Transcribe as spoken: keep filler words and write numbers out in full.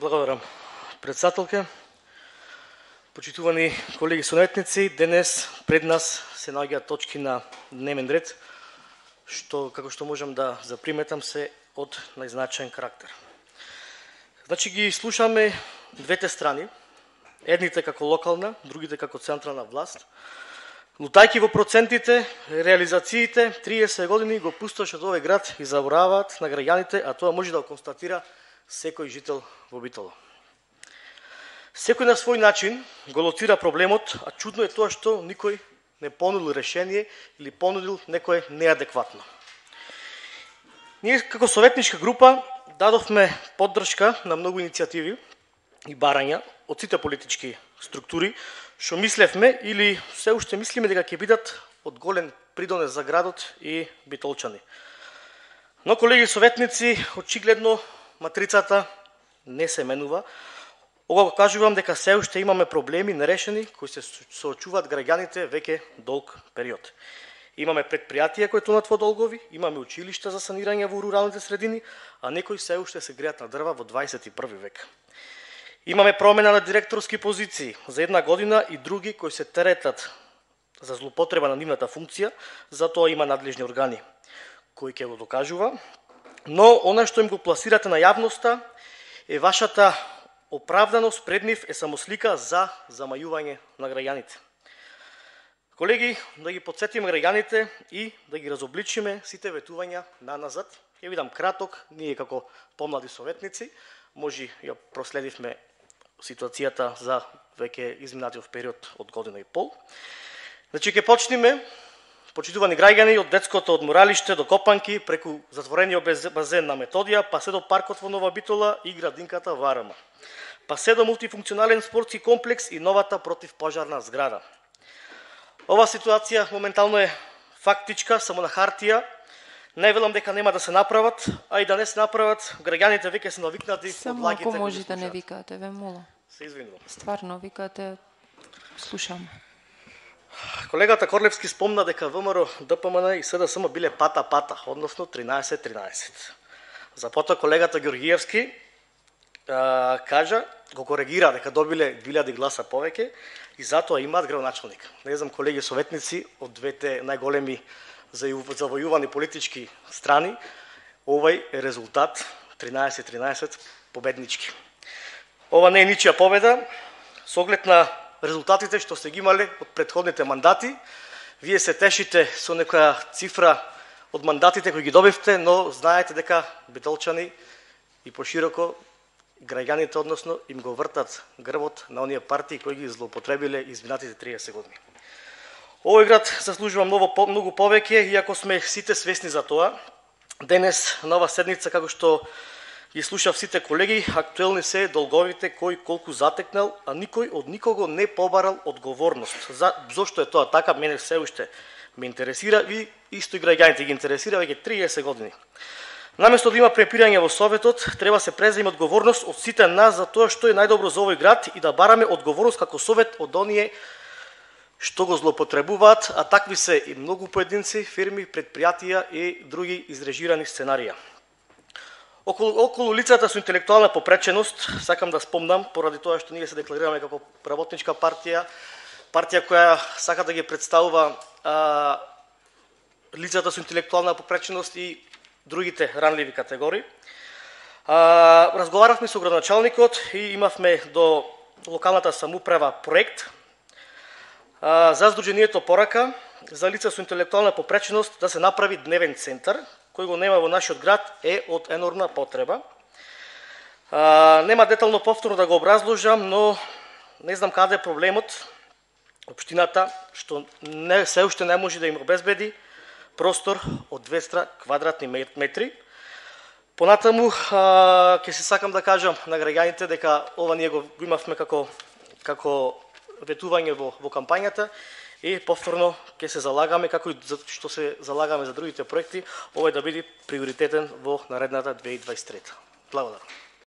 Благодарам, председателке. Почитувани колеги советници, денес пред нас се наоѓаат точки на дневен ред, што, како што можам да заприметам, се од најзначаен карактер. Значи ги слушаме двете страни, едните како локална, другите како централна власт, лутајки во процентите, реализациите, триесет години го пустошат овој град и забораваат на граѓаните, а тоа може да го констатира секој жител во Битола. Секој на свој начин го лоцира проблемот, а чудно е тоа што никој не понудил решение или понудил некое неадекватно. Ние како советничка група дадовме поддршка на многу иницијативи и барања од сите политички структури, што мислевме или се уште мислиме дека ќе бидат од голем придонес за градот и битолчани. Но, колеги советници, очигледно матрицата не се менува. Ова го кажувам дека се уште имаме проблеми нерешени кои се соочуваат граѓаните веќе долг период. Имаме предпријатија кои тонат во долгови, имаме училишта за санирање во руралните средини, а некои се уште се греат на дрва во дваесет и први век. Имаме промена на директорски позиции за една година и други кои се теретат за злоупотреба на нивната функција, затоа има надлежни органи кои ќе го докажува. Но она што им го пласирате на јавноста е вашата оправданост пред нив е само слика за замајување на граѓаните. Колеги, да ги подсетиме граѓаните и да ги разобличиме сите ветувања на назад. Ќе видам краток, ние како помлади советници, може ја проследивме ситуацијата за веќе изминатиот период од година и пол. Значи ќе почнеме, почитувани граѓани, од детското одморалиште до Копанки, преку затворениот базен на Методија, па се до паркот во Нова Битола и градинката во Арама. Па се до мултифункционален спортски комплекс и новата противпожарна зграда. Ова ситуација моментално е фактичка, само на хартија. Не велам дека нема да се направат, а и да не се направат, граѓаните веќе се навикнати од лагите. Само ако може да не викате, ве молам. Се извинувам. Стварно викате, слушам. Колегата Корлевски спомна дека ВМРО, ДПМН и СДСМ биле пата-пата, односно тринаесет тринаесет. Запота колегата Ѓоргиевски а, кажа, го коригира дека добиле две илјади гласа повеќе и затоа имаат градоначалник. Не знам, колеги советници од двете најголеми завојувани политички страни, овој е резултат тринаесет тринаесет победнички. Ова не е ничија победа, со оглед на резултатите што сте ги имале од претходните мандати. Вие се тешите со некоја цифра од мандатите кои ги добивте, но знаете дека битолчани и пошироко граѓаните, односно, им го вртат грбот на оние партии кои ги злоупотребиле изминатите триесет години. Овој град заслужува многу, многу повеќе, иако сме сите свесни за тоа. Денес, на ова седница, како што ги слушав сите колеги, актуелни се долговите кој колку затекнал, а никој од никого не побарал одговорност. За, зошто е тоа така, мене се уште ме интересира и исто и граѓаните ги интересира веќе триесет години. Наместо да има препирање во Советот, треба се преземе одговорност од сите нас за тоа што е најдобро за овој град и да бараме одговорност како Совет од оние што го злоупотребуваат, а такви се и многу поединци, фирми, предпријатија и други изрежирани сценарија. Околу, околу лицата со интелектуална попреченост, сакам да спомнам, поради тоа што ние се декларираме како работничка партија, партија која сака да ги представува а, лицата со интелектуална попреченост и другите ранливи категории. А, разговаравме со градоначалникот и имавме до локалната самоуправа проект а, за Сдруженијето Порака за лица со интелектуална попреченост да се направи дневен центар, кој го нема во нашиот град, е од енормна потреба. А, нема детално повторно да го образложам, но не знам каде е проблемот. Општината, што не, се уште не може да им обезбеди простор од двеста квадратни метри. Понатаму, а, ќе се сакам да кажам на граѓаните дека ова ние го, го имавме како, како ветување во, во кампањата и повторно ќе се залагаме, како и што се залагаме за другите проекти, овој да биде приоритетен во наредната две илјади и дваесет и трета. Благодарам.